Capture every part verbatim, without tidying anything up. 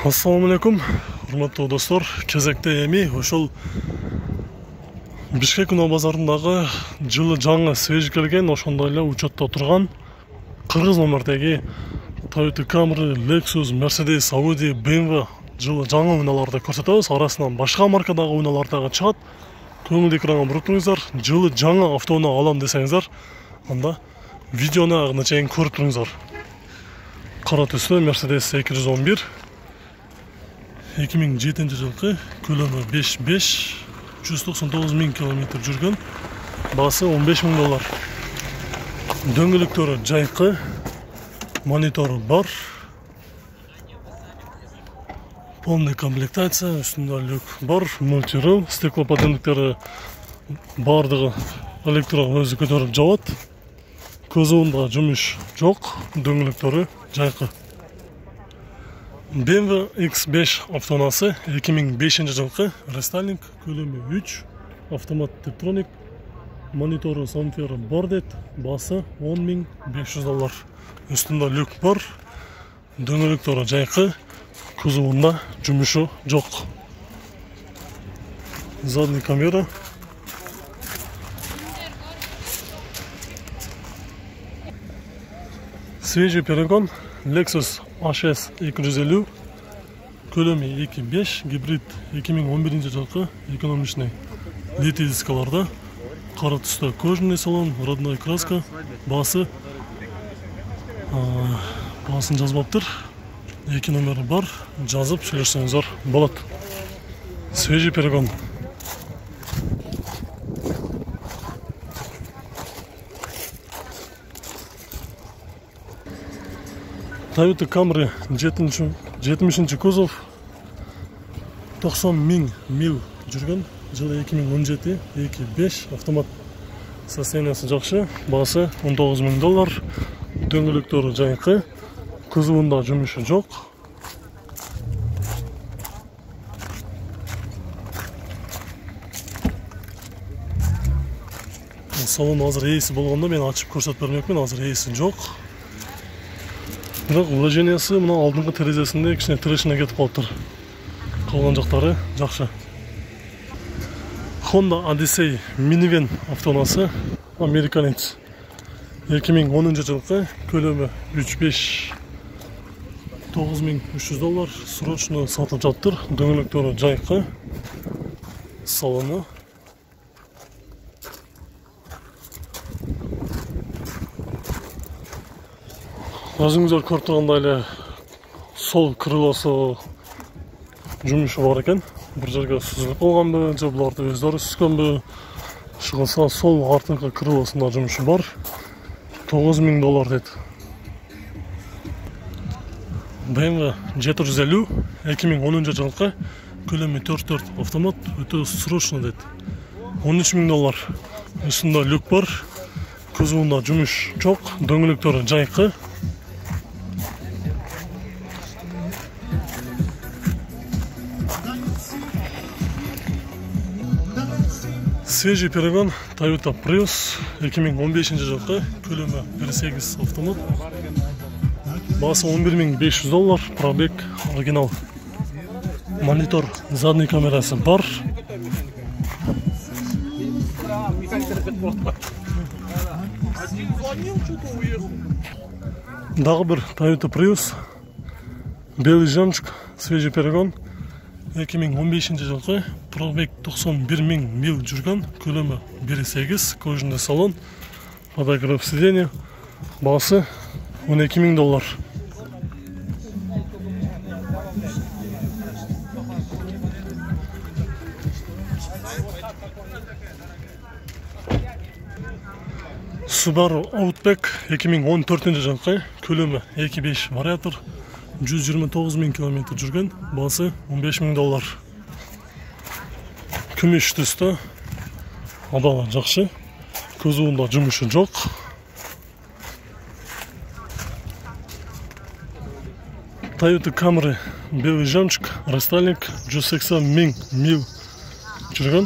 Ассаламу алейкум, урматтуу достор. Кезекте эми ошол Бишкек Унаа базарындагы жылы жаңы свежий келген, ошондой эле учетто турган кыргыз номердеги Toyota Camry, Lexus, Mercedes, Audi, бэ эм вэ жылы жаңы унааларды көрсөтөбүз. Арасынан башка маркадагы унаалар дагы чыгат. Көңүл экранга буруп туруңуздар. Жылы жаңы автоунаа алам десеңиздер, анда видеону агына чейин көрүп туруңуздар. Кара түстө Mercedes эки жүз он бир эки миң жетинчи жылкы, көлөмү беш беш, жүз токсон тогуз миң километр жүргөн, баасы он беш миң доллар. Дөңгөлөктөрү жайкы, монитору бар, полный комплектация, үстүндө люк бар, мультирул, стеклоподъемниктери бардыгы электро өзү көтөрүп жабат. Кузовунда жумуш жок, дөңгөлөктөрү жайкы. бэ эм вэ икс беш автоунаасы эки миң бешинчи жылкы, рестайлинг, көлөмү үч, автомат тептроник, монитору самфери бар дейт, баасы он миң беш жүз доллар. Үстүндө люк бар, дөңгөлөктөрү жайкы, кузовунда жумушу жок. Задний камера. Свежий перегон Lexus эйч эс эки жүз элүү, көлөмү эки беш, гибрид эки миң он биринчи жылкы, экономичный литий дискаларда, кара түстө кожаный салон, родной краска, баасы баасын жазбаптыр. Эки номери бар, жазып сүйлөшсөңүздөр болот. Свежий перегон. Toyota Camry жетимишинчи кузов, токсон миң мил жүргөн, жылы эки миң он жети, эки беш, автомат, состояниясы жакшы, баасы он тогуз миң доллар, дөңгөлөктөрү жайкы, кузовунда жумушу жок. Салон азыр ээси болгондо мен ачып көрсөтүп бермекмин, азыр ээси жок. Бирок вложениясы мына алдыңкы терезесинде кичине тирешине кетип калыптыр. Калган жактары жакшы. Honda Odyssey минивэн автоунаасы, американец, эки миң онунчу жылкы, көлөмү үч беш, тогуз миң үч жүз доллар, срочно сатылып жатыр. Дөңгөлөктөрү жайкы, салону өзүңүздөр көрүп тургандай эле сол крылосу жумушу бар экен. Бир жерге сүзүлүп калганбы, же буларды өздөрү сүзгөнбү? Шыгылса сол артыңкы крылосунда жумушу бар. тогуз миң доллар дейт. бэ эм вэ жети жүз элүү эки миң онунчу жылкы, көлөмү төрт төрт, автомат, өтө срочно дейт. он үч миң доллар. Үстүндө люк бар, кузовунда жумуш жок, дөңгөлөктөрү жайкы. Свежий перегон Toyota Prius эки миң он бешинчи жылкы, көлөмү бир сегиз, автомат, баасы он бир миң беш жүз доллар, пробег оригинал. Монитор, задний камерасы бар. Дагы бир Toyota Prius, белый жемчуг, свежий перегон эки миң он бешинчи жылкы, пробег токсон бир миң мил жүргөн, көлөмү бир сегиз, кожаный салон, подогрев сиденья, баасы он эки миң доллар. Subaru Outback эки миң он төртүнчү жылкы, көлөмү эки беш вариатор, жүз жыйырма тогуз миң километр жүргөн, баасы он беш миң доллар. Күмүш түстө, абалы жакшы, кузовунда жумушу жок. Toyota Camry белый жемчуг, рестайлинг, жүз сексен миң мил жүргөн,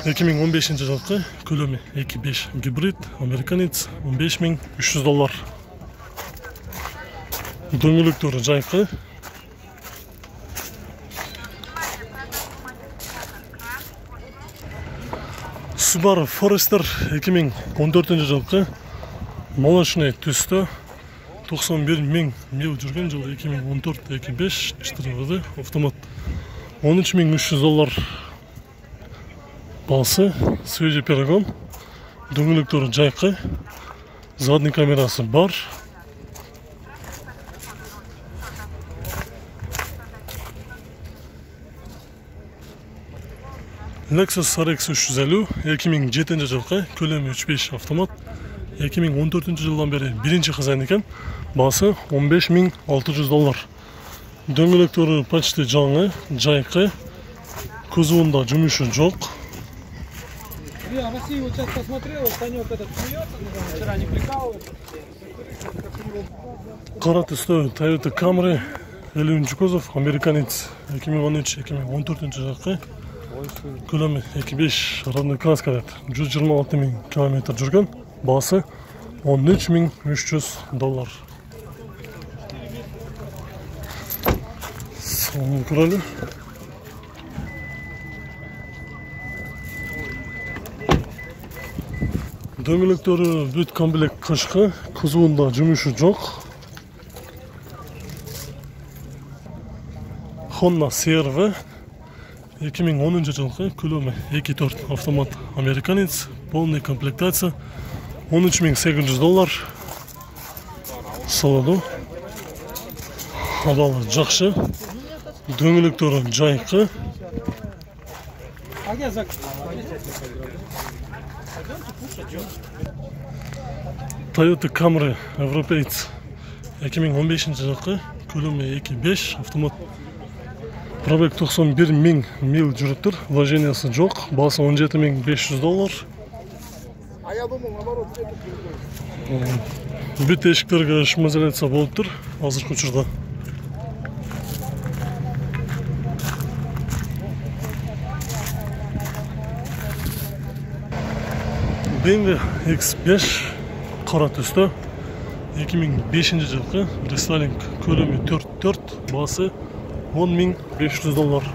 эки миң он бешинчи жылкы, көлөмү эки беш, гибрид, американец, он беш миң үч жүз доллар. Дөңгөлөктөрү жайкы, Subaru Forester эки миң он төртүнчү жылкы молочный түстө токсон бир миң мил жүргөн, жылы эки миң он төрт эки беш четыре вэ дэ автомат. он үч миң үч жүз доллар басы, свежий перегон, дөңгөлөктөрү жайкы, задний камерасы бар. Lexus эр икс үч жүз элүү эки миң жетинчи жылкы, көлөмү үч беш автомат, эки миң он төртүнчү жылдан бери биринчи кызайын экен, басы он беш миң алты жүз доллар. Дөңгөлөктөрү почти жаңы, жайкы, кузовунда жумушу жок. Я в России вот сейчас посмотрел, Санек этот смеется, вчера не прикалывается. Кара түстө Toyota Camry элүүнчү кузов, американец эки миң он үч эки миң он төртүнчү жылкы, көлөмү эки беш, родной краска дейт, жүз жыйырма алты миң километр жүргөн, басы он үч миң үч жүз доллар. Соны көрөлү. Дөңгөлөктөрү бүт комплект кышкы, кузовунда жумушу жок. Honda си эр ви эки миң онунчу жылкы, көлөмү эки төрт автомат, американец, полный комплектация, он үч миң сегиз жүз доллар. Салону абалы жакшы, дөңгөлөктөрү жайкы. Toyota Camry европеец эки миң он бешинчи жылкы, көлөмү эки беш автомат, пробег токсон бир миң мил жүрүптүр, вложениясы жок, басы он жети миң беш жүз доллар. А я думал, наоборот, бүт эшиктерге шумоизоляция болуптур азыркы учурда. бэ эм вэ икс беш кара түстө эки миң бешинчи жылкы, рестайлинг, көлөмү төрт төрт, басы он миң беш жүз доллар.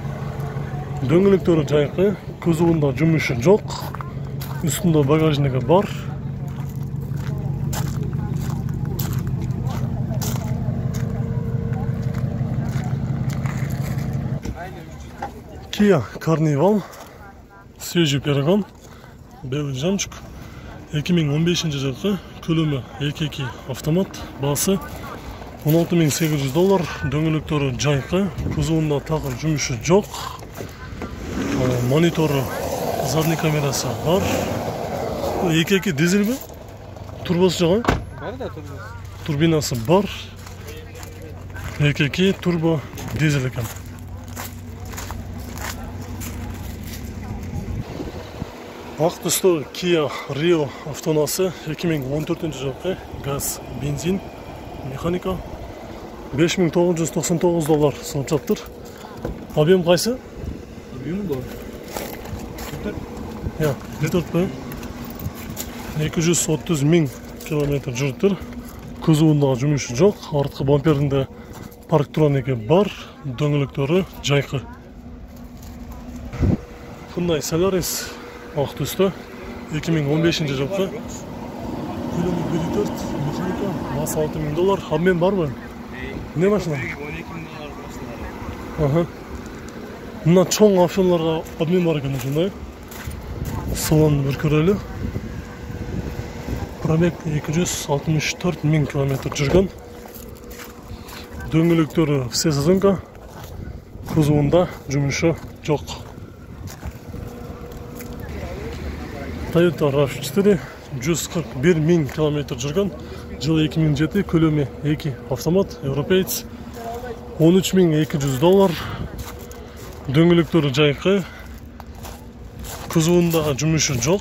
Дөңгөлөктөрү жайкы, кузовунда жумушу жок, үстүндө багажниги бар. Kia Carnival, свежий перегон, белый жамчук, эки миң он бешинчи жылкы, көлөмү эки эки автомат, басы он алты миң сегиз жүз доллар. Дөңгөлөктөрү жайкы, кузовунда такыр жумушу жок, монитору, задний камерасы бар. эки эки дизельби? Турбосу жок, бар да, турбосы. Турбинасы бар. эки эки турбо дизель экен. Ак түстө Kia Rio автоунаасы эки миң он төртүнчү жылкы, газ, бензин, механика, беш миң тогуз жүз токсон тогуз доллар сатып жатыр. Объем кайсы? Объем бар. Я, бир төрт бе? эки жүз отуз миң километр жүрүптүр. Кузовунда жумушу жок, арткы бамперинде парктроники бар, дөңгөлөктөрү жайкы. Hyundai Solaris ак түстө эки миң он бешинчи жылкы, көлөмү бир төрт, механика, басы алты миң доллар. Обмен барбы? Не машина? он эки миң доллар Ага. Мына чоң автобустарга обмен бар экен ушундай. Салонун бир көрөлү. Пробег эки жүз алтымыш төрт миң километр жүргөн. Дөңгөлөктөрү все сезонка, кузовунда жумушу жок. Toyota рав четыре, жүз кырк бир миң километр жүргөн, жылы эки миң жети, көлөмү эки автомат, европеец, он үч миң эки жүз доллар. Дөңгөлөктөрү жайкы, кузовунда жумушу жок.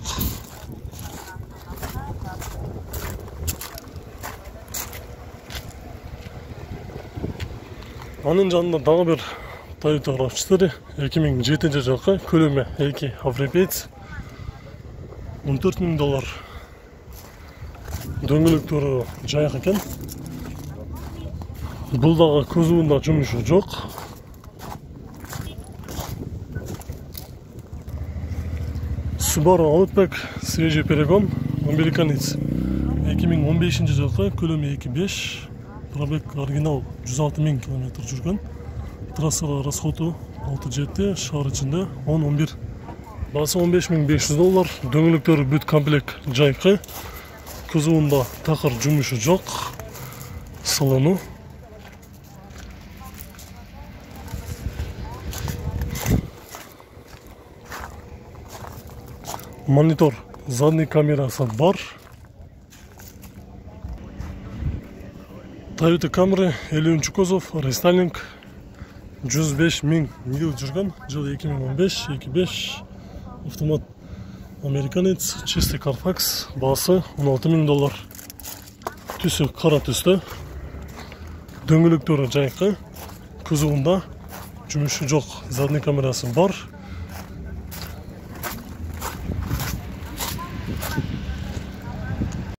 Анын жанында дагы бир Toyota рав четыре, эки миң жетинчи жылкы, көлөмү эки европеец, он төрт миң доллар. Дөңгөлөктөрү жайык экен. Бул дагы кузовунда жумушу жок. Subaru Outback свежий перегон, американец. эки миң он бешинчи жылкы, көлөмү эки беш, пробег оригинал жүз алты миң километр жүргөн. Трассага расходу алты жети, шаар ичинде он он бир. Басы он беш миң беш жүз доллар, дөңгөлөктөрү бүт комплект жайкы. Кузовунда такыр жумушу жок. Салону. Монитор, задний камерасы бар. Toyota Camry элүүнчү кузов, рестайлинг, жүз беш миң мил жүргөн, жылы эки миң он беш, эки беш, автомат американец, чистый Carfax, басы он алты миң доллар. Түсү кара түстө, дөңгөлөктөрү жайкы, кузовунда жумушу жок, задний камерасы бар.